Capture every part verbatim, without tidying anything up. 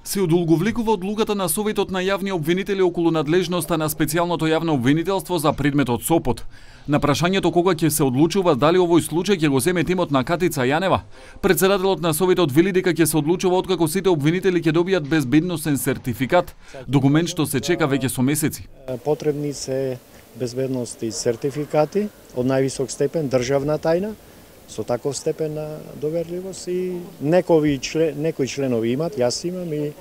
Се одолговлекува одлуката на Советот на јавни обвинители околу надлежноста на специјалното јавно обвинителство за предметот Сопот. На прашањето кога ќе се одлучува дали овој случај ќе го земе тимот на Катица Јанева, председателот на Советот вели дека ќе се одлучува откако сите обвинители ќе добијат безбедносен сертификат, документ што се чека веќе со месеци. Потребни се безбедности сертификати од највисок степен државна тајна, со таков степен на доверливост и некои член, некои членови имат, јас имам и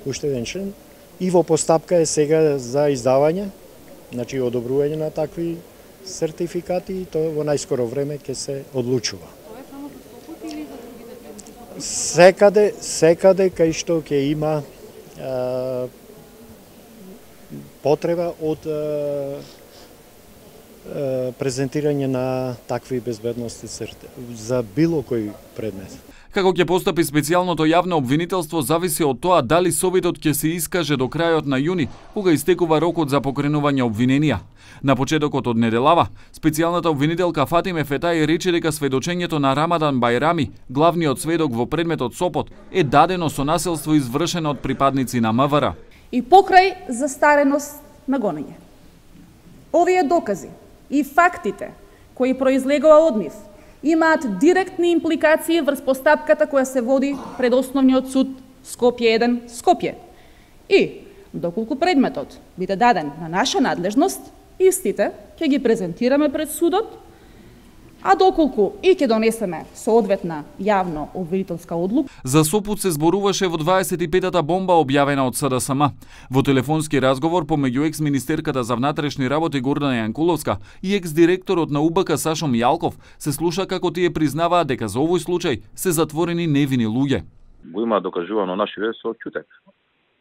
уште еден член. И во постапка е сега за издавање, значи одобрување на такви сертификати и тоа во најскоро време ќе се одлучува. Тоа е само за Сопот или за другите принципи? Секаде, секаде кај што ќе има а, потреба од а, презентирање на такви безбедности за било кој предмет. Како ќе постапи специјалното јавно обвинителство зависи од тоа дали Советот ќе се искаже до крајот на јуни, кога истекува рокот за покренување обвиненија. На почетокот од неделава, специјалната обвинителка Фатиме Фетај рече дека сведочењето на Рамадан Бајрами, главниот сведок во предметот Сопот, е дадено со насилство извршено од припадници на МВР. И покрај застареност на гонење. Овие докази и фактите кои произлегува од нив имаат директни импликации врз постапката која се води пред Основниот суд Скопје еден Скопје. И доколку предметот биде даден на наша надлежност, истите ќе ги презентираме пред судот, а доколку и ќе донесеме соодветна јавно обвинителска одлука. За Сопот се зборуваше во дваесет и петата бомба објавена од СДСМ. Во телефонски разговор помеѓу екс-министерката за внатрешни работи Гордана Јанкуловска и екс-директорот на УБК Сашо Мијалков се слуша како тие признаваат дека за овој случај се затворени невини луѓе. Го има докажувано наши вест со ќутек.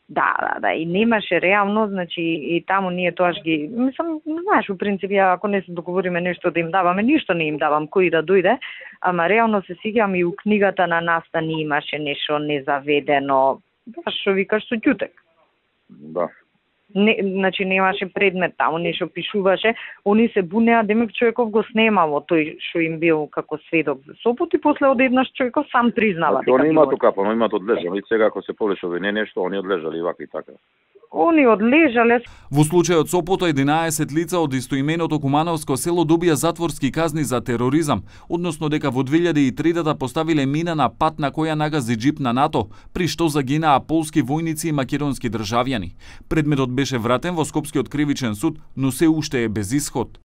Да, да, да, и немаше реално, значи и таму ние тоаш ги, мислам, знаеш, у принцип, ја, ако не се договориме нешто да им даваме, ништо не им давам, кој да дојде, ама реално се сеќавам и у книгата на Настан имаше нешто незаведено, баш што викаш со ќутек. Да. Не, значи немаше предмет таму, нешто пишуваше, они се бунеа, демек човеков го снемало тој што им бил како сведок за Сопот и после одеднаш човеков сам признава. Значи, они имаат окапано, имаат одлежали, сега ако се повеќе не нешто, они одлежали вака и така. Они одлежале. Во случајот Сопото единаесет лица од истоименото Кумановско село добија затворски казни за тероризам, односно дека во две илјади и третата поставиле мина на пат на која нагази џип на НАТО, при што загинаа полски војници и македонски државјани. Предметот беше вратен во Скопскиот кривичен суд, но се уште е без исход.